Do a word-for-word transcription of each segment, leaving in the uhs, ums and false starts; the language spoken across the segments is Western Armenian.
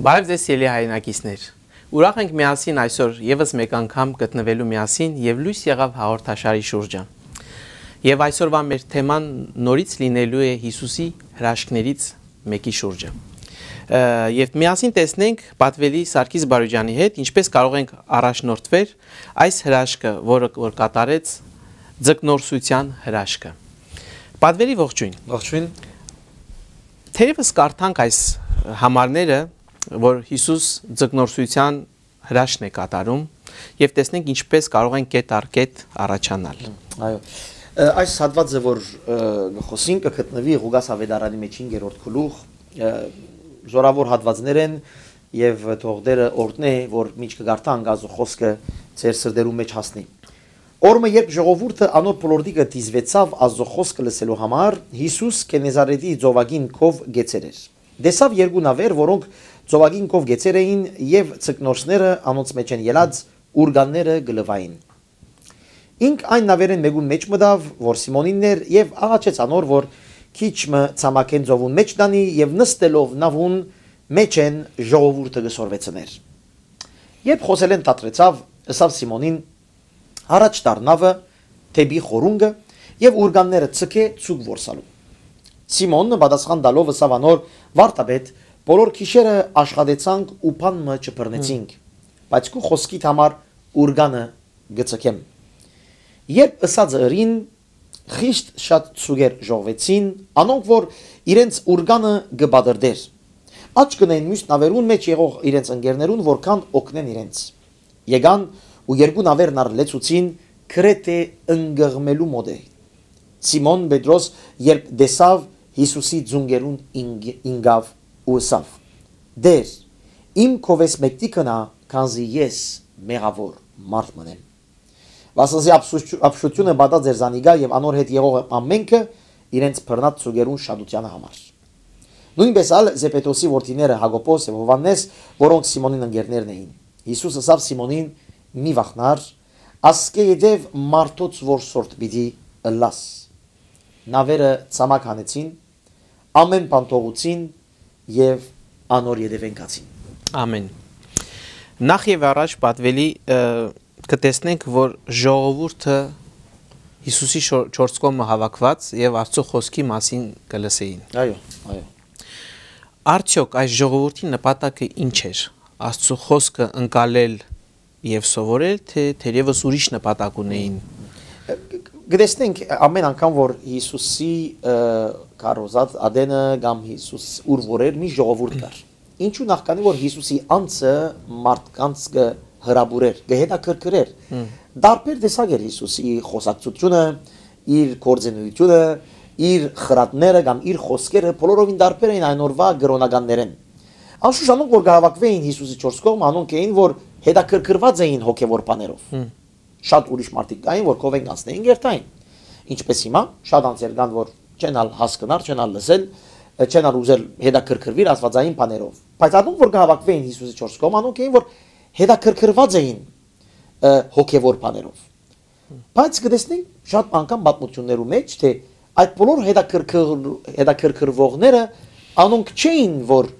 Բարև ձեզ, սիրելի հայրենակիցներ։ Ուրախ ենք միասին այսօր ևս մեկ անգամ գտնվելու միասին, եւ լոյս եղաւ հաղորդաշարի շուրջը։ Եւ այսօրվա մեր թեման նորից լինելու է Յիսուսի հրաշքներից մեկի շուրջը։ Ը, եւ միասին տեսնենք պատվելի Սարգիս Բարոյեանի հետ, ինչպես կարող ենք առաջնորդվել այս հրաշքը, որը որ կատարեց ձկնորսության հրաշքը։ Պատվելի, ողջույն։ Ողջույն։ Թերևս կարդանք այս համարները, որ Հիսուս ձկնորսության հրաշքն է կատարում, եւ տեսնենք ինչպես կարող են կետ առ կետ առաջանալ։ Այո։ Ը, այս հատվածը, որ, ը, կը խոսին, կը գտնուի Ղուկաս Աւետարանի մեջ հինգերորդ գլուխ, ը, զորաւոր հատվածներ են, եւ թող Տէրը օրհնէ, որ մինչ կը կարդանք, Աստուծոյ խօսքը ձեր սրտերուն մէջ հասնի։ Օր մը, երբ ժողովուրդը անոր բոլորտիկը դիզուեցաւ Աստուծոյ խօսքը լսելու համար, Յիսուս Կենեզարետի ծովագին քով գեցեր էր։ Տեսաւ երկու նաւեր, որոնք ծովագին քով գեցեր էին, եւ ձկնորսները անոնց մէջէն ելած ուրկանները կը լուային։ Ինք այն նաւերէն մէկուն մէջ մտաւ, որ Սիմոնինն էր, եւ աղաչեց անոր, որ քիչ մը ցամաքէն ծովուն մէջ տանի, եւ նստելով նաւուն մէջէն ժողովուրդը կը սորվեցնէր։ Երբ խօսելէն դադրեցաւ, ըսաւ Սիմոնին. «Առաջ տար նաւը դէպի խորունկը եւ ուրկանները ձգէ ձուկ որսալու»։ Սիմոնը պատասխան տալով ըսաւ անոր. «Վարդապետ, բոլոր գիշերը աշխատեցանք ու բան մը չբռնեցինք, բայց քու խօսքիդ համար ուրկանը կը ձգեմ»։ Երբ ըսածը ըրին, խիստ շատ ձուկեր ժողվեցին, անոնք որ իրենց ուրկանը կը պատրտէր։ Աչք կ'ընէին միւս նաւերուն մէջ եղող իրենց ընկերներուն, որ գան օգնեն իրենց։ Եկան ու երկու նաւերն ալ լեցուցին, գրեթէ ընկղմելու մօտէ։ Սիմոն Պետրոս, երբ տեսաւ Յիսուսի ծունկերուն ինգ-, ինկաւ ու ըսաւ. «Տէր, իմ քովէս մեկդի գնայ, քանզի ես մեղաւոր մարդ մըն եմ»։ Վասն զի ապշուչ-, ապշութիւնը պատած էր զանիկա, եւ անոր հետ եղող ամէնքը իրենց բռնած ձուկերուն շատութեանը համար։ Նոյնպէս ալ Զեպետոսի որդիները Յակոբոս եւ Յովհաննէս, որոնք Սիմոնին ընկերներն էին։ Յիսուս ըսաւ Սիմոնին. «Մի վախնար, ասկէ ետեւ մարդոց որսորդ պիտի ըլլաս»։ Նաւերը ցամաք հանեցին, ամէն բան թողուցին եւ անոր ետեւէն գացին։ Ամէն։ Նախ եւ առաջ պատվելի, ը, կը տեսնենք, որ ժողովուրդը Յիսուսի շոր-, չորս կողմը հաւաքուած եւ Աստուծոյ խօսքի մասին կը լսէին։ Այո, այո։ Արդեօք այս ժողովուրդի նպատակը ի՞նչ էր, Աստուծոյ խօսքը ընկալել եւ սովորել, թէ թերեւս ուրիշ նպատակ ունէին։ Ը, կ-, կտեսնենք ամէն անգամ, որ Յիսուսի, ը, քարոզած ատենը կամ Յիսուս ուր որ էր, մի ժողովուրդ կար։ Ինչու՞, նախքանի որ Յիսուսի անձը մարդկանց կը հրապուրէր, կը հետաքրքրէր։ Հմ։ Տարբեր տեսակ էր Յիսուսի խօսակցութիւնը, իր գործունեութիւնը, իր խրատները կամ իր խօսքերը բոլորովին տարբեր էին այն օրուայ կրօնականներէն։ Անշուշտ անոնք, որ կը հաւաքուէին Յիսուսի չորս կողմը, անոնք էին, որ հետաքրքրուած էին հոգեւոր բաներով։ Հմ։ Շատ ուրիշ մարդիկ կային, որ քովէն կանցնէին, կ'երթային։ Ինչպես հիմա, շատ անձեր կան, որ չեն ալ հասկնար, չեն ալ լսել, չեն ալ ուզել հետաքրքրուիլ աստուածային բաներով։ Բայց անոնք, որ կը հաւաքուէին Յիսուսի չորս կողմը, անոնք էին, որ հետաքրքրուած էին, ը, հոգեւոր բաներով։ Բայց կտեսնենք շատ անգամ պատմութիւններու մէջ, թէ այդ բոլոր հետաքրքր-, հետաքրքրուողները անոնք չէին, որ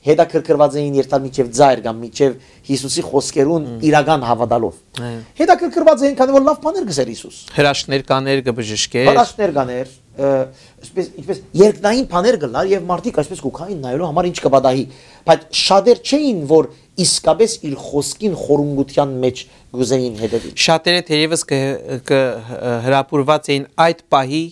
հետաքրքրուած էին երթալ մինչեւ ծայր կամ մինչեւ Յիսուսի խօսքերուն Մմ։ իրական հաւատալով։ Այո։ Հետաքրքրուած էին, քանի որ լաւ բաներ կ'ըսէր Յիսուս։ Հրաշքներ կաներ, կը բժշկեր։ Հրաշքներ կաներ, ը, այսպես, ինչպես երկնային բաներ կ'ըլլար, եւ մարդիկ այսպես կու գային նայելու համար ինչ կը պատահի։ Բայց շատեր չէին, որ իսկապես իր խօսքին խորունկութեան մէջ կ'ուզեին հետեւիլ։ Շատերը թերեւս կը, կը, ը, հրապուրուած էին այդ պահի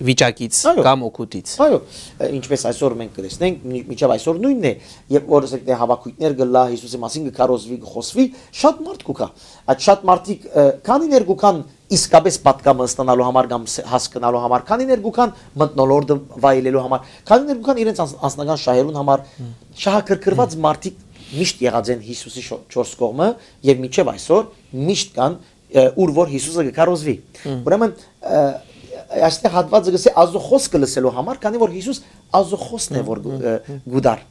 վիճակից Այո։ կամ օգուտից։ Այո, ը, ինչպես այսօր մենք կտեսնենք, մի-, մինչեւ այսօր նոյնն է, երբ որ ասենք, դե, հաւաքոյթներ կ'ըլլայ, Յիսուսի մասին կը քարոզուի, կը խոսուի, շատ մարդ կու գայ։ Այդ շատ մարդիկ, ը, քանիներ կու գան իսկապես պատկամը ստանալու համար կամ ս-, հասկնալու համար, քանիներ կու գան մթնոլորտը վայելելու համար, քանիներ կու գան իրենց անձ-, անձնական շահերուն համար, Հմ։ շահագրգռված Հմ։ մարդիկ միշտ եղած են Յիսուսի շո-, չորս կողմը, եւ մինչեւ այսօր միշտ կան, ը, ուր որ Յիսուսը կը քարոզուի։ Հմ։ Ուրեմն, ը, այստեղ հատվածը կ'ըսէ Աստուծոյ խօսքը լսելու համար, քանի որ Յիսուս Աստուծոյ խօսքն է, Հմ, որ, հմ, ը, հմ։ կու դար։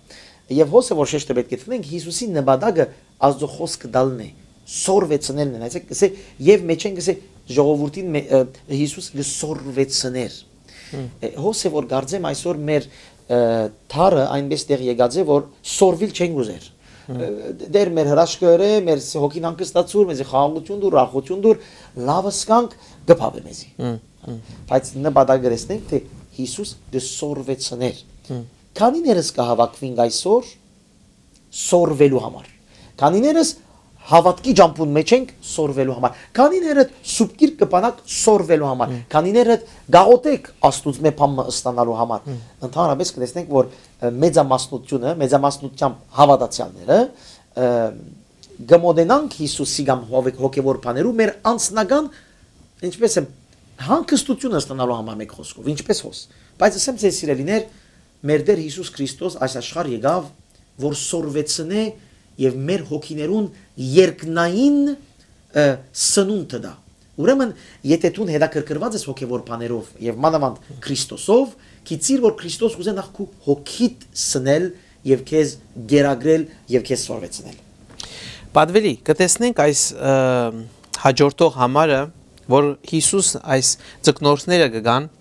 Եւ հոսը, որ շեշտը պէտք է դնենք, Յիսուսի նպատակը Աստուծոյ խօսքը տալն է, սորվեցնելն է, այսինքն, կ'ըսէ, եւ մէջէն կ'ըսէ, ժողովուրդին մէ-, ը, Յիսուս կը սորվեցներ։ Հմ։ Ը, հոս է, որ կարծեմ այսօր մեր, ը, դարը այնպէս տեղ եկած է, որ սորվիլ չենք ուզեր։ Ը, Տէր, մեր հրաշքը ըրէ, մեր ս-, հոգին հանգստացուր, մեզի խաղաղութիւն տուր, ուրախութիւն տուր, լաւ ըսկանք, կը բաւէ մեզի։ Բայց նպատակ կը տեսնենք, թէ Յիսուս կը սորվեցներ։ Քանիներս կը հաւաքուինք այսօր սորվելու համար։ Քանիներս հաւատքի ճամբուն մէջ ենք սորվելու համար։ Քանիներդ սուբկիրք կը բանաք սորվելու համար։ Քանիներդ գաղութեք Աստուծմէ բան մը ստանալու համար։ Ընդհանրապես կը տեսնենք, որ, ը, մեծամասնությունը, մեծամասնությամբ հաւատացեալները, ը, կը մոտենանք Յիսուսի կամ հովեկ-, հոգեվոր բաներու մեր անձնական, ինչպես եմ, հանգստությունը ստանալու համար, մեկ խօսքով, ինչպես հոս։ Բայց ասեմ ձեզ, սիրելիներ, մեր Տէր Յիսուս Քրիստոս այս աշխարհ եկաւ, որ սորվեցնէ եւ մեր հոգիներուն երկնային, ը, սնունդը տայ։ Ուրեմն, եթե դուն հետաքրքրված ես հոգեվոր բաներով եւ մանաւանդ Քրիստոսով, գիտիր, որ Քրիստոս կ'ուզէ նախ քու հոգիդ սնել եւ քեզ գերագրել եւ քեզ սորվեցնել։ Պատուելի, կը տեսնենք այս, ը, հաջորդող համարը, որ Յիսուս այս ձկնորսները կը գան,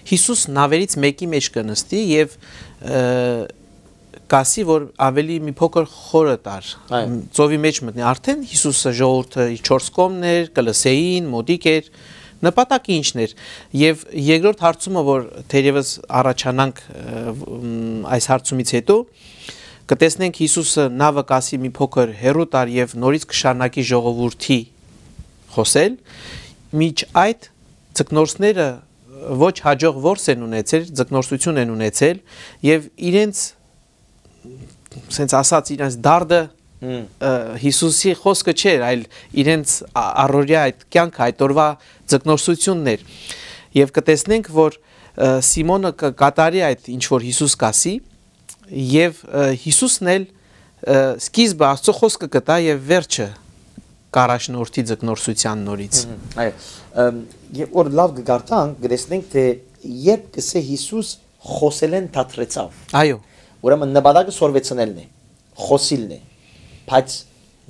Յիսուս նաւերից մէկի մէջ կը նստի եւ, ը, կ'ասի, որ աւելի մի փոքր խորը տար, Այո։ Ծովի մէջ մտնի։ Արդեն Յիսուսը ժողովուրդը իր չորս կողմն էր, կը լսէին, մօտիկ էր, նպատակը ի՞նչն էր։ Եւ երկրորդ հարցումը, որ թերեւս առաջանանք, ը, մ, այս հարցումից հետո, կը տեսնենք Յիսուսը նաւը կ'ասի մի փոքր հեռու տար եւ նորից կը շարունակի ժողովուրդի խօսել, մինչ այդ ձկնորսները ոչ յաջող որս են ունեցել, ձկնորսություն են ունեցել եւ իրենց, սենց ասած, իրենց դարդը, Հմ։ ը, Յիսուսի խօսքը չէր, այլ իրենց ա-, առօրյա այդ կյանքը, այդ օրվա ձկնորսությունն էր։ Եւ կը տեսնենք, որ, ը, Սիմոնը կը կատարի այդ ինչ որ Յիսուս կ'ասի, եւ, ը, Յիսուսն էլ, ը, սկիզբը Աստծո խօսքը կը տայ եւ վերջը կ'առաջնորդի ձկնորսութեան նորից։ Հմ, այո։ Ըմ, եւ որ լաւ կը կարդանք, կը տեսնենք, թէ երբ կ'ըսէ Յիսուս, խօսելէն դադրեցաւ։ Այո։ Ուրեմն նպատակը սորվեցնելն է, խօսիլն է, բայց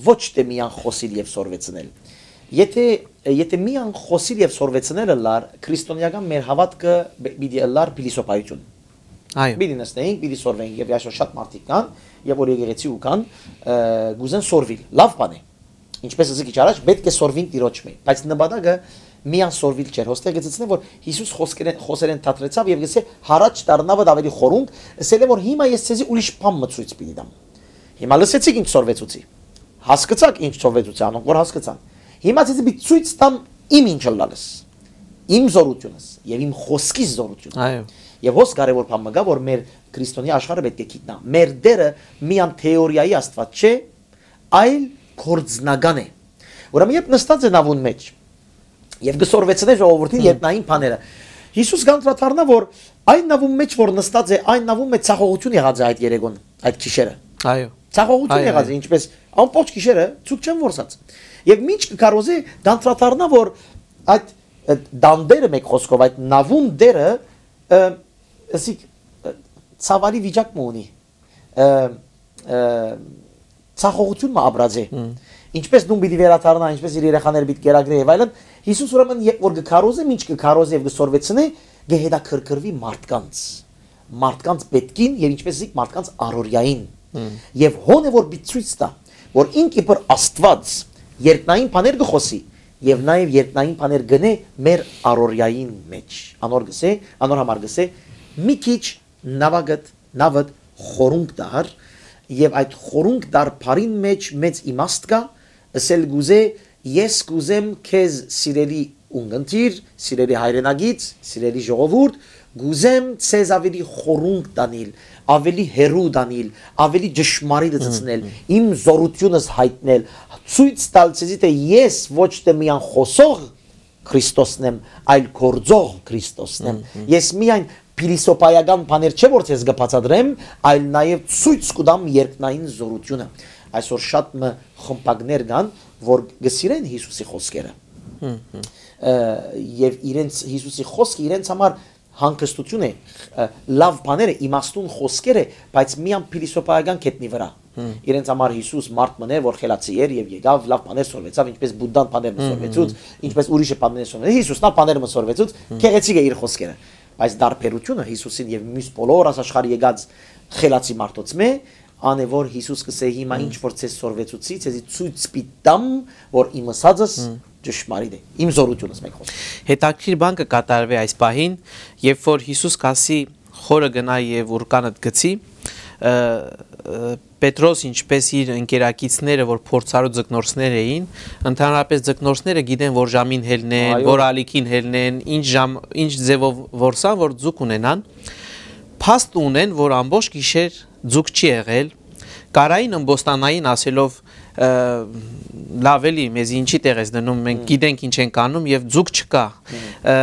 ոչ թէ միան խօսիլ եւ սորվեցնել։ Եթե, եթե միան խօսիլ եւ սորվեցնել ըլլար, քրիստոնեական մեր հաւատքը պ-, պիտի ըլլար փիլիսոփայություն։ Այո։ Պիտի նստենք, պիտի սորվենք, եւ այսօր շատ մարդիկ կան, եւ որ եկեղեցի ու կան, ը, կ'ուզեն սորվիլ։ Լաւ բան է։ Ինչպես ըսի քիչ առաջ, պէտք է սորվին Տիրոջմէ, բայց նպատակը միան սորվիլ չէր։ Հոստեղ գցեցնեմ, որ Յիսուս խոսքերեն, խօսերեն դադրեցաւ եւ գսե, «Յառաջ դառնաւդ աւելի խորունկ», ըսել է, որ «Հիմա ես ձեզի ուրիշ բան մը ցոյց պիտի տամ»։ Հիմա լսեցիք ինչ սորվեցուցի։ Հասկցաք ինչ սորվեցուցի անոնք, որ հասկցան։ Հիմա ձեզի պիտի ցոյց տամ իմ ինչ ըլլալս, իմ զորությունս եւ իմ խօսքիս զորությունը։ Այո։ Եւ հոս կարեւոր բան մը կա, որ մեր քրիստոնեայ աշխարհը պէտք է գիտնայ։ Մեր Տէրը միան թեորիայի Աստուած չէ, այլ գործնական է։ Ուրեմն, երբ նստած է նաւուն մէջ եւ կը սորվեցնէ ժողովուրդին Հմ։ երկնային բաները, Յիսուս կանդրադառնայ, որ այն նաւուն մէջ, որ նստած է, այն նաւուն մէջ ցախողություն եղած է այդ երեգոն, այդ գիշերը։ Այո։ Ցախողություն Այո, եղած է, այո։ ինչպես ամբողջ գիշերը ցուք չեն որսած։ Եւ մինչ կը քարոզէ, կանդրադառնայ, որ այդ, ը, տան Տէրը, մեկ խօսքով, այդ նաւուն Տէրը, ը, ասիկ, ը, ցաւալի վիճակ մը ունի, ը, ը, ցախողություն մը ապրած է։ Հմ։ Ինչպես տուն պիտի վերադառնայ, ինչպես իր երեխաները պիտի կերակրէ եւ այլն, Յիսուս ուրեմն երբ որ կը քարոզէ, մինչ կը քարոզէ եւ կը սորվեցնէ, կը հետաքրքրուի մարդկանց, մարդկանց պէտքին եւ, ինչպես ասիկ, մարդկանց առօրյային։ Հմ։ Եւ հոն է որ պիտի ցոյց տայ, որ ինք իբր Աստուած երկնային բաներ կը խօսի եւ նաեւ երկնային բաներ կ'ընէ մեր առօրյային մէջ։ Անոր գսե, անոր համար գսե, «Մի քիչ նաւակդ, նաւդ խորունկ տար, եւ այդ խորունկ տար բառին մէջ մեծ իմաստ կայ, ըսել կ'ուզէ, ես կ'ուզեմ քեզ, սիրելի ունգընտիր, սիրելի հայրենակից, սիրելի ժողովուրդ, կ'ուզեմ ձեզ աւելի խորունկ տանիլ, աւելի հեռու տանիլ, աւելի ճշմարիտ Հմ, ըսեցնել, հմ։ իմ զորությունս յայտնել, ցոյց տալ ձեզի, թէ ես ոչ թէ միան խօսող Քրիստոսն եմ, այլ գործող Քրիստոսն եմ։ Հմ, հմ։ Ես միայն փիլիսոփայական բաներ չէ որ ձեզ կը բացատրեմ, այլ նաեւ ցոյց կու տամ երկնային զորությունը»։ Այսօր շատ մը խմբակներ կան, որ կը սիրեն Յիսուսի խօսքերը։ Հմ, հմ։ Ը, եւ իրենց, Յիսուսի խօսքը իրենց համար հանգստություն է, ը, լաւ բաներ է, իմաստուն խօսքեր է, բայց միայն փիլիսոփայական գետնի վրա։ Հմ։ Իրենց համար Յիսուս մարդ մըն էր, որ խելացի էր եւ եկաւ, լաւ բաներ սորվեցաւ, ինչպես Բուդդան բաներ մը Հմ, հմ, սորվեցուց, հմ։ ինչպես ուրիշը բաներ սորվեցուց, Յիսուսն ալ բաներ մը սորվեցուց, Հմ։ գեղեցիկ է իր խօսքերը։ Բայց տարբերութիւնը Յիսուսին եւ միւս բոլոր աս աշխարհ եկած խելացի մարդոց մէ, ան է որ Յիսուս կ'ըսէ. «Հիմա ինչ որ ձեզ սորվեցուցի, ձեզի ցոյց պիտի տամ, որ իմ ըսածս ճշմարիտ է, իմ զօրութիւնս», մէկ խօսքով։ Հետաքրքիր բան կը կատարուի այս պահին, երբ որ Յիսուս կ'ասի. «Խորը գնա եւ ուրկանը գցի», ը, ը, Պետրոս, ինչպէս իր ընկերակիցները, որ փորձառու ձկնորսներ էին, ընդհանրապես ձկնորսները գիտեն, որ ժամին յելնեն, Այո։ որ ալիքին յելնեն, ինչ ժամ, ինչ ձևով որսան, որ ձուկ ունենան, փաստ ունեն, որ ամբողջ գիշեր ձուկ չի եղել, կարային ըմբոստանային ասելով, ը, «Լաւ էլի, մեզի ինչի տեղ ես դնում, մենք Մհմ։ գիտենք ինչ ենք անում», եւ ձուկ չկա։ Մհմ։ Ը,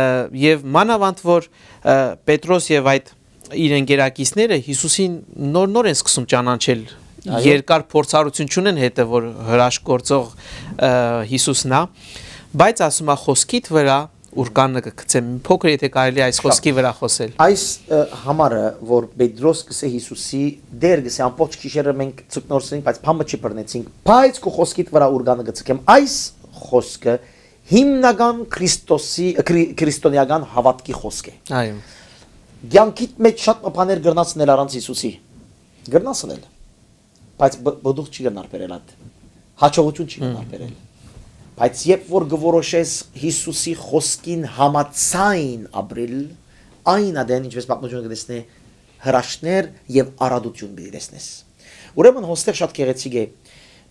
եւ մանաւանդ որ, ը, Պետրոս եւ այդ իր ընկերակիցները Յիսուսին նոր-նոր են սկսում ճանաչել։ Այո։ Երկար փորձառութիւն չունեն հետը, որ հրաշք գործող, ը, Յիսուսն է, բայց ասում է. «Խօսքիդ վրա ուրկանը կը գցեմ»։ Փոքր, եթե կարելի, այս Շատ։ խօսքի վրա խօսել։ Այս, ը, համարը, որ Պետրոս կ'ըսէ Յիսուսի, «Տէր, կ'ըսէ, ամբողջ գիշերը մենք ձկնորսին, բայց բան մը չի բռնեցինք, բայց քու խօսքիդ վրա ուրկանը կը ձգեմ»։ Այս խօսքը հիմնական Քրիստոսի, քրի-, քրիստոնեական հաւատքի խօսք է։ Այո։ Կեանքիդ մէջ շատ մը բաներ կրնաս ընել առանց Յիսուսի։ Կրնաս ընել։ Բայց բ-, բդուղ չի կրնար բերել ատ։ Հաջողութիւն չի կրնար Մհմ։ բերել։ Բայց երբ որ կը որոշես Յիսուսի խօսքին համաձայն ապրիլ, այն ատեն, ինչպես պատմությունը կը տեսնէ, հրաշքներ եւ արատութիւն պիտի տեսնես։ Ուրեմն հոստեղ շատ գեղեցիկ է։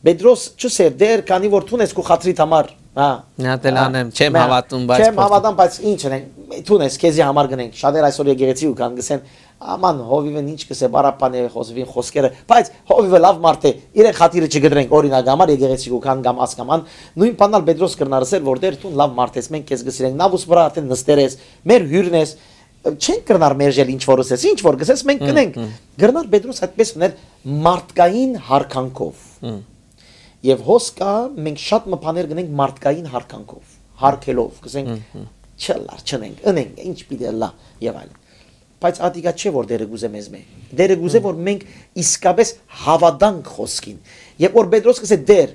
Պետրոս չ'ըսէր. «Տէր, քանի որ դուն ես քու խատրիդ համար, հա, Նատել հա, անեմ, չեմ մա, հաւատում, բայց չեմ փորձ- հաւատամ, բայց ինչ ընենք, դուն ես, քեզի համար գնենք»։ Շատեր այսօր եկեղեցի ու կան, կ'ըսեն. «Աման, հովիվն ինչ կ'ըսէ, Բարաբբան է խոսվին խոսքերը», բայց հովիվը լաւ մարդ է, իրեն խաթիրը չկտրենք, օրինակ համար, եկեղեցի ու կան կամ ասկաման, նոյն բանալ Պետրոս կրնար ըսել, որ «Տէր, դուն լաւ մարդ ես, մենք քեզ կսիրենք, նավուս վրա արդեն նստեր ես, մեր հիւրն ես, չենք կրնար մերժել ինչ որ ըսես, ինչ որ կ'ըսես, մենք Մհմ, կ'ընենք»։ մհմ։ Կրնար Պետրոս այդպես ընել մարդկային յարգանքով։ Մհմ։ Եւ հոս կայ, մենք շատ մը բաներ կ'ընենք մարդկային յարգանքով, յարգելով, կ'ըսենք, Մհմ, մհմ։ «Չ'ըլլար, չ'ընենք, ընենք, ինչ պիտի ըլլայ» եւ այլն։ Բայց ատիկա չէ, որ Տէրը կ'ուզէ մեզմէ։ Տէրը կ'ուզէ, Մհմ։ որ մենք իսկապես հաւատանք խօսքին։ Երբ որ Պետրոս կ'ըսէ. «Տէր,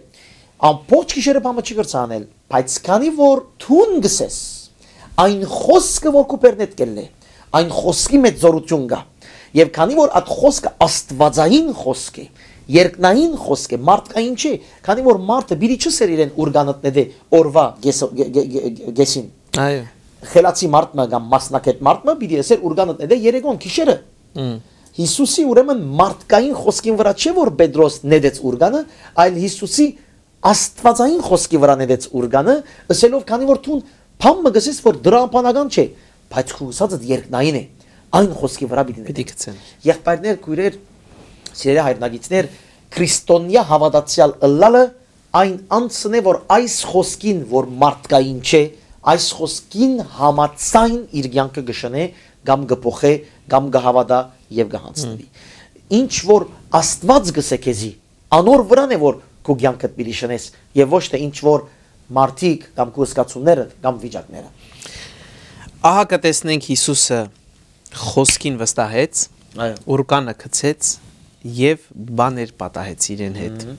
ամբողջ գիշերը բան մը չի կրցայ անել, բայց քանի որ դուն կ'ըսես այն խօսքը, որ քու բերնէդ կ'ելլէ, այն խօսքի մէջ զօրութիւն կայ, եւ քանի որ այդ խօսքը աստուածային խօսք է, երկնային խօսք է, մարդկային չէ, քանի որ մարդը պիտի չ'ըսէր իրեն ուրկանը դնեդէ օրուայ կես-, կե-, կե-, կե-, կեսին։ Այո։ Խելացի մարդ մը կամ մասնագետ մարդ մը պիտի ըսէր ուրկանը դնեդէ երեկոյ գիշերը»։ Մհմ։ Յիսուսի ուրեմն մարդկային խօսքին վրա չէ, որ Պետրոս նետեց ուրկանը, այլ Յիսուսի աստուածային խօսքի վրա նետեց ուրկանը, ըսելով. «Քանի որ դուն բան մը կ'ըսես, որ դրաբանական չէ, բայց քու ըսածդ երկնային է, այն խօսքի վրա պիտի Պիտի նետեմ»։ գցեմ։ Եղբայրներ, քոյրեր, սիրելի հայրենակիցներ, քրիստոնեայ հաւատացեալ ըլլալը այն անձն է, որ այս խօսքին, որ մարդկային չէ, այս խօսքին համաձայն իր կեանքը կը շնէ կամ կը փոխէ կամ կը հաւատայ եւ կը յանձնուի։ Մհմ։ Ինչ որ Աստուած կ'ըսէ քեզի, անոր վրան է, որ քու կեանքդ պիտի շնես, եւ ոչ թէ ինչ որ մարդիկ կամ քու զգացումները կամ վիճակները։ Ահա կը տեսնենք Յիսուսը խօսքին վստահեց, Այո։ ուրկանը գցեց եւ բաներ պատահեց իրեն հետ։ Մհմ։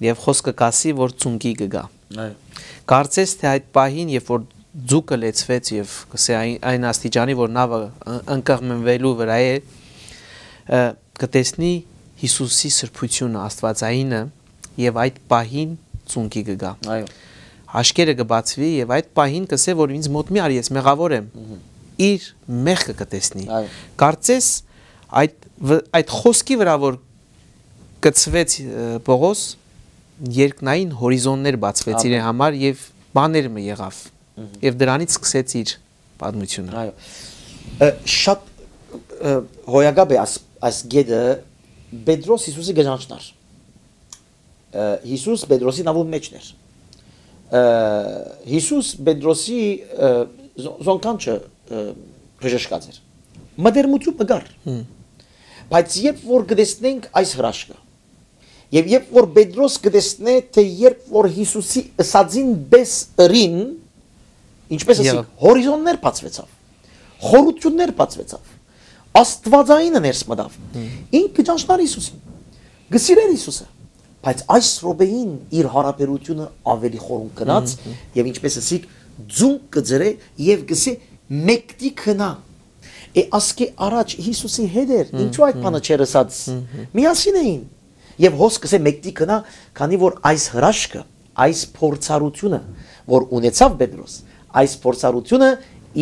Եւ խօսքը կ'ասի, որ ծունկի կը գայ։ Այո։ Կարծես թէ այդ պահին, երբ որ ձուկը լեցուեց եւ կ'ըսէ այն, այն աստիճանի, որ նավը ը-, ընկղմվելու վրայ է, ը, կը տեսնի Յիսուսի սրբութիւնը, աստուածայինը, եւ այդ պահին ծունկի կը գայ։ Այո։ Աչքերը կը բացուի եւ այդ պահին կ'ըսէ, որ ինձ մօտ մի արի, ես մեղաւոր եմ։ Մհմ։ Իր մեղքը կը տեսնի։ Այո։ Կարծես այդ վ-, այդ խօսքի վրա, որ կցվեց, ը, Պողոս, երկնային հորիզոններ բացվեց Ամեն։ իրեն համար եւ բաներ մը եղաւ։ Մհմ։ Եւ դրանից սկսեց իր պատմությունը։ Այո։ Ը, շատ, ը, հոյակապ է այս, այս գետը, Պետրոս Յիսուսի կը ճանչնար։ Ը, Յիսուս Պետրոսի նավուն մէջն էր։ Ը, Յիսուս Պետրոսի, ը, զո-, զոնքանչը, ը, բժշկած էր։ Մտերմութիւն մը կար։ Հմ։ Բայց երբ որ կը տեսնենք այս հրաշքը, եւ երբ որ Պետրոս կը տեսնէ, թէ երբ որ Յիսուսի ըսածին պէս ըրին, ինչպես ըսի, Եղա։ հորիզոններ բացվեցաւ, խորութիւններ բացվեցաւ, Աստուածայինը ներս մտաւ։ Հմ։ Ինք կը ճանչնար Յիսուսին, կը սիրէր Յիսուսը, բայց այս րոպեին իր յարաբերութիւնը ավելի խորունկ գնաց, Հմ, հմ։ եւ ինչպես ըսի, ձունկ կը ձրէ եւ կ'ըսէ. «Մեկդի գնա, Է ասկէ առաջ Յիսուսի հետ էր, ինչու այդ բանը չէր ըսած։ Միասին էին։ Եւ հոս կսե մեկդի կնա, քանի որ այս հրաշքը, այս փորձառությունը, որ ունեցաւ Պետրոս, այս փորձառությունը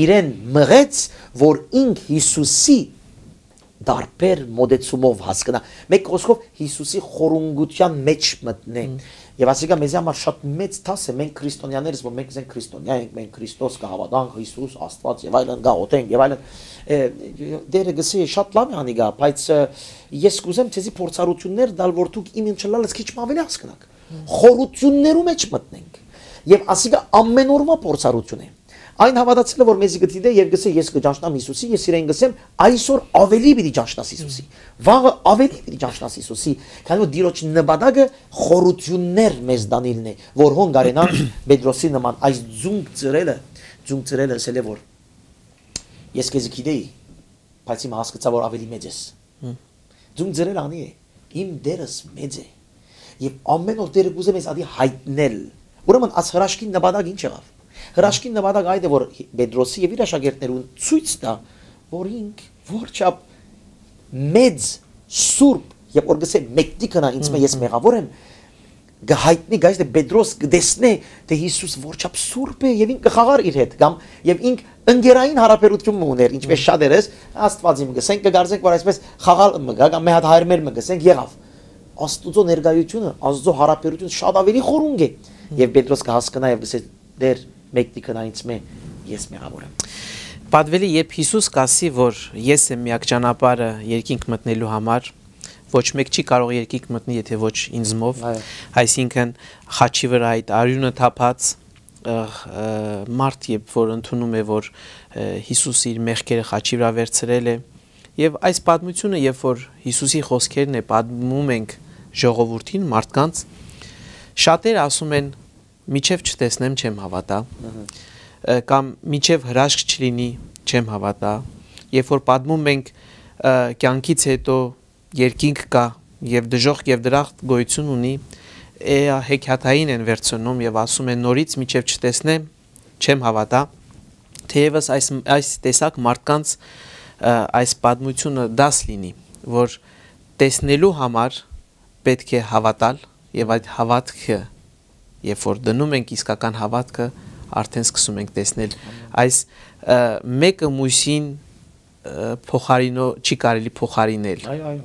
իրեն մղեց, որ ինք Յիսուսի տարբեր մոտեցումով հասկնայ։ Մէկ խօսքով, Յիսուսի խորունկութեան մէջ մտնէ։ Եւ ասիկա մեզի համար շատ մեծ դաս է, մենք քրիստոնյաներս, որ մենք զենք քրիստոնյա ենք, մենք Քրիստոս կը հաւատանք, Յիսուս, Աստուած եւ այլն, գաղութենք եւ այլն։ Դերը գսի շատ լավ է անիկա, բայց ես կուզեմ ձեզի փորձառութիւններ տալ, որ դուք իմ ինչ լալս քիչ մը աւելի հասկնաք։ Խորութիւններու մէջ մտնենք։ Եւ ասիկա ամեն օրվա փորձառութիւն է։ Այն հաւատացելը, որ մեզի կը դիտէ եւ գսե, «Ես կը ճանչնամ Յիսուսի», ես իրեն գսեմ, «Այսօր աւելի պիտի ճանչնաս Յիսուսի, վաղը աւելի պիտի ճանչնաս Յիսուսի», քանի որ Տիրոջ նպատակը խորութիւններ մեզ տանիլն է, որ հոն կարենան Պետրոսի նման այս ձունկ ծռելը, ձունկ ծռելը ըսել է, որ «Ես քեզի գիտեի, բայց հիմա հասկցայ, որ աւելի մեծ ես»։ Ձունկ ծռել անի է, «Իմ Տերս մեծ է, եւ ամեն օր Տերը կուզէ մեզ ատի յայտնել»։ Ուրեմն, աս հրաշքին նպատակ ինչ եղաւ։ Հրաշքին նպատակ այդ է, որ Պետրոսի եւ իր աշակերտներուն ցոյց տայ, որ ինք որչափ մեծ, սուրբ, եւ որ գսե, «Մեկդի կնա ինձ մէ, ես մեղաւոր եմ», կը յայտնի, գայս, թէ Պետրոս կը տեսնէ, թէ Յիսուս որչափ սուրբ է, եւ ինք կը խաղար իր հետ, կամ, եւ ինք ընկերային յարաբերութիւն մը ունէր, ինչպես շատ էր, Աստուած իմ գսենք, կը կարծենք, որ այսպես խաղալ մը գայ, կամ մե հատ հայր մեր մը գսենք, եղաւ։ Աստուծոյ ներկայութիւնը, Աստուծոյ յարաբերութիւնը շատ աւելի խորունկ է, եւ Պետրոս կը հասկնայ եւ գսե, «Տեր, մեկդի կնա ինձ մէ, ես մեղաւոր եմ»։ Պատուելի, երբ Յիսուս կ'ասի, որ «Ես եմ միակ ճանապարհը երկինք մտնելու համար, ոչ մէկ չի կարող երկինք մտնի, եթե ոչ ինձմով», այսինքն, խաչի վրայ այդ արիւնը թափած, ը, ը, մարդ, երբ որ ընդունում է, որ, ը, Յիսուս իր մեղքերը խաչի վրայ վերցրել է, եւ այս պատմությունը, երբ որ Յիսուսի խոսքերն է պատմում ենք ժողովուրդին, մարդկանց, շատերը ասում են, «Մինչեւ չտեսնեմ, չեմ հաւատա», ը, կամ «Մինչեւ հրաշք չլինի, չեմ հաւատա»։ Երբ որ պատմում ենք, ը, կյանքից հետո երկինք կայ եւ դժոխք եւ դրախտ գոյութիւն ունի, է, հեքիաթային են վերցնում եւ ասում են, «Նորից մինչեւ չտեսնեմ, չեմ հաւատա»։ Թէեւս այս, այս տեսակ մարդկանց, ը, այս պատմությունը դաս լինի, որ տեսնելու համար պէտք է հաւատալ, եւ այդ հաւատքը, երբ որ դնում ենք իսկական հաւատքը, արդեն սկսում ենք տեսնել։ Այս, ը, մէկը մոյսին, ը, փոխարինո-, չի կարելի փոխարինել։ Այո, այո։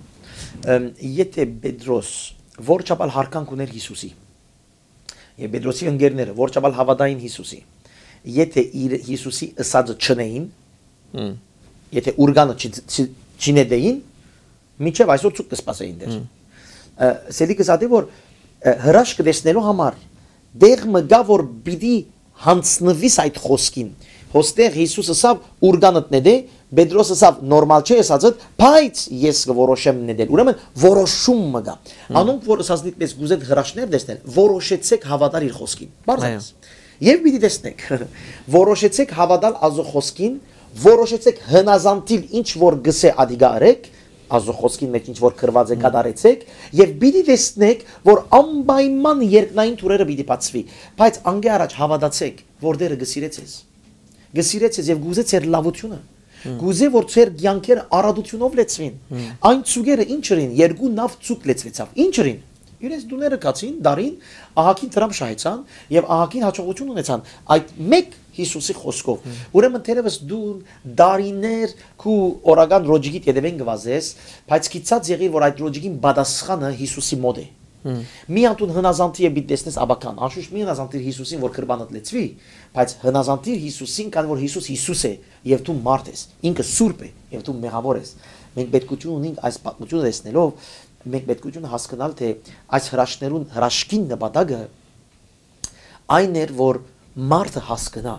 Ըմ, եթե Պետրոս որչափ ալ յարգանք ուներ Յիսուսի, եւ Պետրոսի ընկերները որչափ ալ հաւատային Յիսուսի, եթե իր, Յիսուսի ըսածը չնեին, եթե ուրկանը չի, չի, չինետեին, մինչեւ այսօր ցուկ կը սպասեին դեր։ Ը, Սելիքը սա դե որ, ը, հրաշքը տեսնելու համար դեղ մը գայ, որ պիտի յանձնուիս այդ խօսքին։ Հոստեղ Յիսուս ըսաւ, «Ուրկանդ նետէ», Պետրոս ըսավ, «Նորմալ չէ ըսածդ, բայց ես կը որոշեմ նետել»։ Ուրեմն որոշում մը կայ։ Անոնք, որ ըսածնիդ մեզ կուզեն հրաշներ տեսնել, որոշեցեք հաւատալ իր խօսքին։ Պարզապես։ Այո։ Եւ պիտի տեսնեք։ Որոշեցեք հաւատալ Աստուծոյ խօսքին, որոշեցեք հնազանդիլ ինչ որ գսե ադիգա արեք, Աստուծոյ խօսքին մէջ ինչ որ գրուած է, կատարեցեք, եւ պիտի տեսնեք, որ անպայման երկնային թուրերը պիտի բացուի։ Բայց անկէ առաջ հաւատացեք, որ Տերը կը սիրե ձեզ։ Կը սիրե ձեզ եւ կուզե ձեր լաւութիւնը։ Կուզե, որ ձեր կեանքերը արատութիւնով լեցուին։ Այն ցուկերը ինչ ըրին, երկու նաւ ցուկ լեցուեցաւ։ Ինչ ըրին։ Իրենց տուները գացին, դարին, ահագին դրամ շահեցան եւ ահագին հաջողութիւն ունեցան այդ մէկ Յիսուսի խօսքով։ Ուրեմն թերեւս դուն դարիներ քու օրական ռոճիկիդ ետեւէն կը վազես, բայց գիտած եղիր, որ այդ ռոճիկին պատասխանը Յիսուսի մոտ է։ Մի անդուն հնազանդի է պիտի տեսնես աբական, անշուշտ մի հնազանդիր Յիսուսին, որ կրբանդ լեցվի, բայց հնազանդիր Յիսուսին, քանի որ Յիսուս Յիսուս է, եւ դու մարդ ես, ինքը սուրբ է, եւ դու մեղաւոր ես։ Մենք պետքութիւն ունենք այս պատմությունը տեսնելով, մենք պետքութիւն հասկանալ, թէ այս հրաշներուն, հրաշքին նպատակը այն էր, որ մարդը հասկնայ,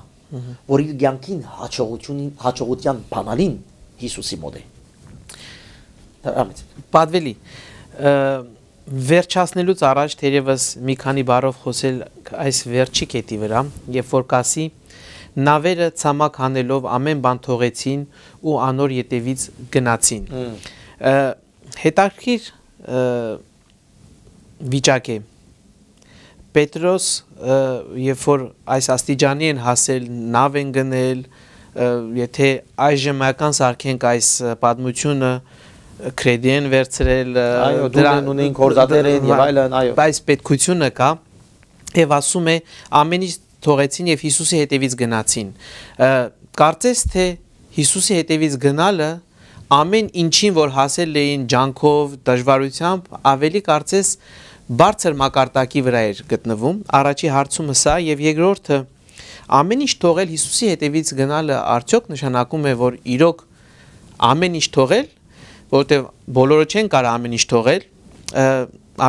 որ իր կեանքին հաջողությունին, հաջողության բանալին Յիսուսի մոտ է։ Արամից։ Պատվելի, ը, վերջացնելուց առաջ թերևս մի քանի բառով խոսել այս վերջի կետի վրա, երբ որ կ'ասի, «Նավերը ցամաք հանելով ամեն բան թողեցին ու անոր ետևից գնացին»։ Ը, հետաքրքիր, ը, վիճակ է։ Պետրոս, ը, երբ որ այս աստիճանի են հասել, նավ են գնել, Ը, եթե այժմական սարքենք այս, ը, պատմությունը, ը, credit-ին վերցրել, ը, Այո, դուլ դրա-, են ունին, գործատեր են եւ այլն, այո։ Բայց պետքությունը կա, եւ ասում է, ամեն ինչ թողեցին եւ Յիսուսի հետեւից գնացին։ Ը, կարծես թէ Յիսուսի հետեւից գնալը, ամեն ինչին, որ հասել էին ջանքով, դժվարությամբ, ավելի կարծես բարձր մակարդակի վրա էր գտնվում։ Առաջի հարցումը սա, եւ երկրորդը, ամեն ինչ թողել, Յիսուսի հետևից գնալը արդյոք նշանակում է, որ իրոք ամեն ինչ թողել, որովհետեւ բոլորը չեն կարող ամեն ինչ թողել, ը,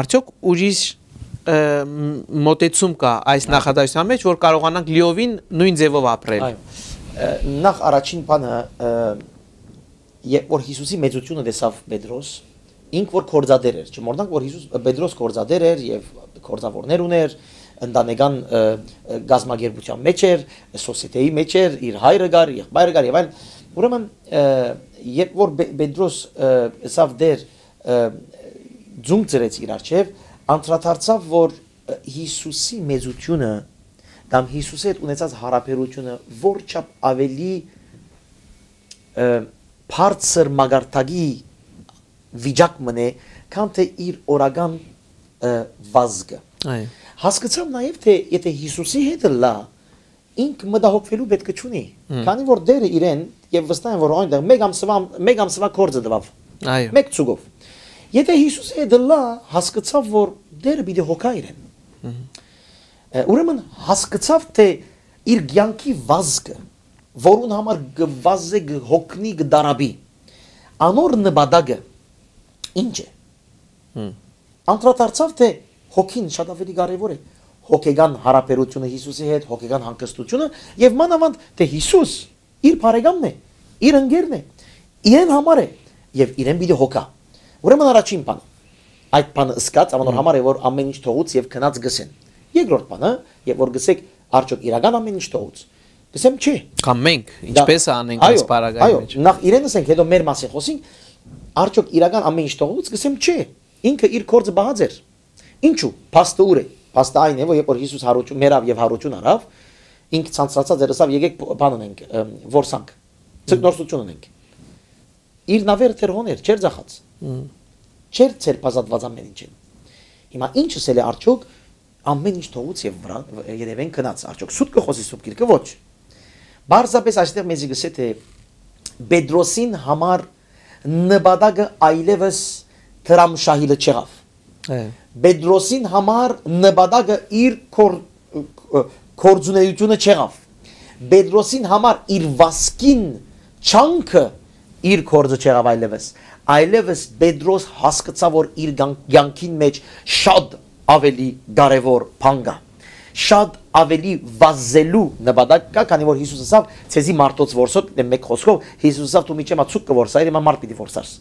արդյոք ուրիշ, ը, մ-, մոտեցում կա այս Այո։ նախադասության մեջ, որ կարողանանք լիովին նոյն ձևով ապրել։ Այո։ Ը, նախ առաջին բանը, ը, երբ որ Յիսուսի մեծությունը տեսաւ Պետրոս, ինք որ գործատեր էր, չմոռնանք, որ Յիսուս, Պետրոս գործատեր էր եւ գործաւորներ ունէր, ընտանեկան, ը, ը, կազմակերպութեան մեջ էր, սոսիեթեի մեջ էր, իր հայրը կար, եղբայրը կար եւ այլն։ Ուրեմն, ը, երբ որ Պե-, Պետրոս, ը, ըսաւ Տէր, ը, ձունկ ծրեց իր առջեւ, անդրադարձաւ, որ, ը, Յիսուսի մեծությունը կամ Յիսուսի հետ ունեցած յարաբերությունը որչափ ավելի, ը, բարձր մակարդակի վիճակ մնե, քան թէ իր օրական, ը, վազքը։ Այո։ Հասկցաւ նաեւ, թէ եթե Յիսուսի հետ ըլլայ, ինք մտահոգուելու պէտք չունի, Մհմ։ քանի որ Տէրը իրեն, եւ վստահ եմ, որ այնտեղ մէկ ամսուա, մէկ ամսուա գործը տուաւ։ Այո։ Մէկ ցուկով։ Եթե Յիսուսի հետ ըլլայ, հասկցաւ, որ Տէրը պիտի հոգայ իրեն։ Մհմ։ Ը, ուրեմն հասկցաւ, թէ իր կեանքի վազքը, որուն համար կը վազէ, կը հոգնի, կը դարապի, անոր նպատակը ինչ է։ Մհմ։ Անդրադարձաւ, թէ հոգին շատ ավելի կարեւոր է, հոգեկան յարաբերությունը Յիսուսի հետ, հոգեկան հանգստությունը, եւ մանաւանդ, թէ Յիսուս իր բարեկամն է, իր ընկերն է, իրեն համար է, եւ իրեն պիտի հոգայ։ Ուրեմն առաջին բանը, այդ բանը ըսկած, անոր Մհմ։ համար է, որ ամեն ինչ թողուց եւ գնաց գսեն։ Երկրորդ բանը, երբ որ գսեք, արդյոք իրական ամեն ինչ թողուց։ Գսեմ, չէ։ Կամ մենք, Դա ինչպես անենք այս այո, պարագայի այո, մեջ։ նախ իրեն ասենք, հետո մեր մասին խոսենք, արդյոք իրական ամեն ինչ թողուց, գսեմ, չէ։ Ինքը իր գործը պահած էր։ Ինչու՞, փաստը ո՞ւր է։ Փաստը այն է, որ երբ որ Յիսուս յարութիւն, մեռաւ եւ յարութիւն առաւ, ինք ցանցացած էր, ըսաւ, «Եկեք, բ-, բան ունենք, ըմ, որսանք, Մհմ։ ձկնորսութիւն ունենք»։ Իր նավերը դեռ հոն էր, չէր ձախած։ Մհմ։ Չէր ձերբազատուած ամեն ինչին։ Հիմա ինչ ըսել է արդյոք, ամեն ինչ թողուց եւ վրան, վ-, երևեն գնաց, արդյոք սուտ կը խօսի Սուրբ Գիրքը, ոչ։ Պարզապէս այստեղ մեզի գսե, թէ Պետրոսին համար նպատակը այլեւս դրամշահիլը չեղաւ։ Է։ Պետրոսին համար նպատակը իր կոր-, ը, գործունեությունը չեղաւ։ Պետրոսին համար իր վասկին չանքը իր գործը չեղաւ այլեւս։ Այլեւս Պետրոս հասկցաւ, որ իր կան-, կյանքին մեջ շատ ավելի կարեւոր բան կա։ Շատ ավելի վազելու նպատակ կա, քանի որ Յիսուս ասաւ, «Ձեզի մարդոց որսոց», դե, մէկ խօսքով, Յիսուս ասաւ, «Դու միջեւ մա ցուկ կը որսայիր, հիմա մարդ պիտի որսաս»։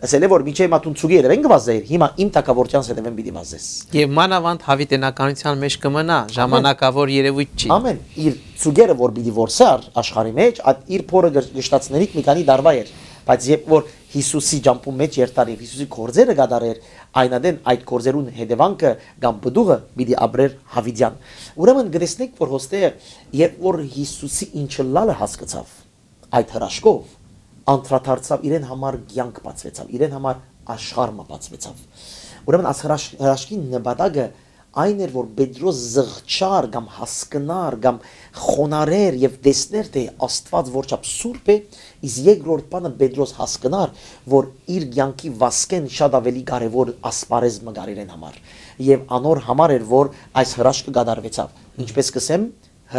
Ասել է, որ «Միջեւ մա դուն ցուկի հետեւէն կը վազեիր, հիմա իմ թագաւորութեանս հետեւէն պիտի վազես»։ Եւ մանաւանդ յաւիտենականութեան մեջ կը մնայ, Ամեն։ ժամանակաւոր երեւոյթ չի։ Ամեն, իր ցուկերը, որ պիտի որսար աշխարհի մեջ, այդ իր փորը գշ-, գշտացնելիք մի քանի տարուա էր, բայց երբ որ Յիսուսի ճամբուն մեջ երթար եւ Յիսուսի գործերը կատարեր, այն ատեն այդ գործերուն հետեւանքը կամ պտուղը պիտի ապրեր յաւիտեան։ Ուրեմն կտեսնենք, որ հոստերը, երբ որ Յիսուսի ինչ ըլլալը հասկցաւ, այդ հրաշքով անդրադարձաւ, իրեն համար կեանք բացուեցաւ, իրեն համար աշխարհ մը բացուեցաւ։ Ուրեմն այս հրաշ-, հրաշքին նպատակը այն էր, որ Պետրոս զղջար կամ հասկնար կամ խոնարհեր եւ տեսներ, թէ Աստուած որչափ սուրբ է, իսկ երկրորդ բանը Պետրոս հասկնար, որ իր կեանքի վասկեն շատ ավելի կարեւոր ասպարեզ մը կար իրեն համար, եւ անոր համար էր, որ այս հրաշքը կատարուեցաւ։ Ինչպես կսեմ,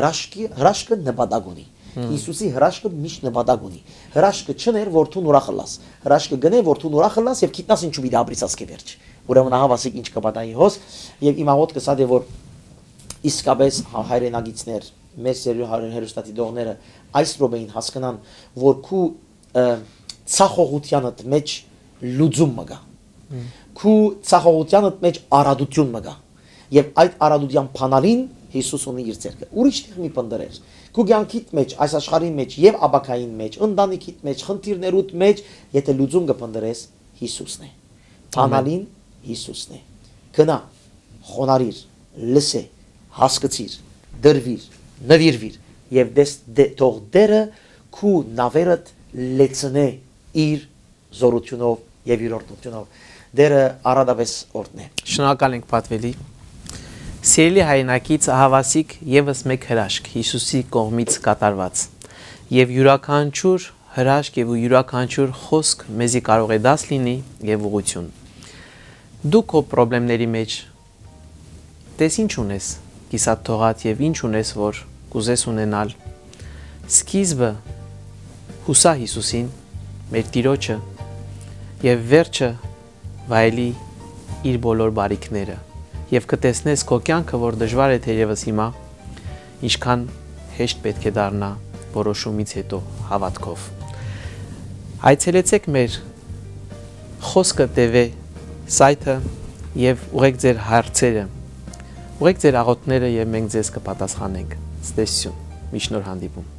հրաշքի-, հրաշքը նպատակ ունի։ Հմ։ Յիսուսի հրաշքը միշտ նպատակ ունի։ Հրաշքը չներ, որ դուն ուրախ ըլլաս։ Հրաշքը գնե, որ դուն ուրախ ըլլաս եւ գիտնաս ինչու պիտի ապրիս ասկէ վերջ։ Ուրեմն ահա ասիկ ինչ կը պատահի հոս, եւ իմ աղոթքը սա դե, որ իսկապես հա-, հայրենակիցներ, մեր սիրելի հայր-, հեռուստադիտողները այս րոպեին հասկնան, որ քու, ը, ցախողությանդ մեջ լուծում մը կա։ Հմ։ Քու ցախողությանդ մեջ արադություն մը կա։ Եւ այդ արադության փանալին Յիսուս ունի իր ձեռքը։ Ուրիշ տեղ մի փնտռեր։ Քու կեանքիդ մեջ, այս աշխարհին մեջ եւ ապագային մեջ, ընտանիքիդ մեջ, խնդիրներուդ մեջ, եթե լուծում կը փնտռես, Յիսուսն է։ Ամեն։ Փանալին Յիսուսն է։ Գնա, խոնարիր, լսե, հասկցիր, դրվիր, նվիրվիր եւ դես-, դե-, թող Տերը քու նաւերդ լեցնէ իր զօրութիւնով եւ իր օրհնութիւնով։ Տէրը առատապէս օրհնէ։ Շնորհակալ ենք, Պատուելի։ Սիրելի հայրենակից, ահաւասիկ եւս մէկ հրաշք Յիսուսի կողմից կատարուած։ Եւ իւրաքանչիւր հրաշք եւ յուրաքանչիւր խօսք մեզի կարող է դաս լինի եւ ուղղութիւն։ Դու քո պրոբլեմների մէջ տես ինչ ունես, կիսատ թողած եւ ինչ ունես, որ կ'ուզես ունենալ։ Սկիզբը յուսա Յիսուսին, մեր Տիրոջը, եւ վերջը վայելի իր բոլոր բարիքները, եւ կը տեսնես քո կեանքը, որ դժուար է թերեւս հիմա, ինչքան հեշտ պէտք է դառնայ որոշումից յետոյ հաւատքով։ Այցելեցէք մեր Խոսքը Տ V սայթը եւ ուղղեք ձեր հարցերը, ուղղեք ձեր աղօթքները եւ մենք ձեզ կը պատասխանենք։ Ցտեսություն, մինչ նոր հանդիպում։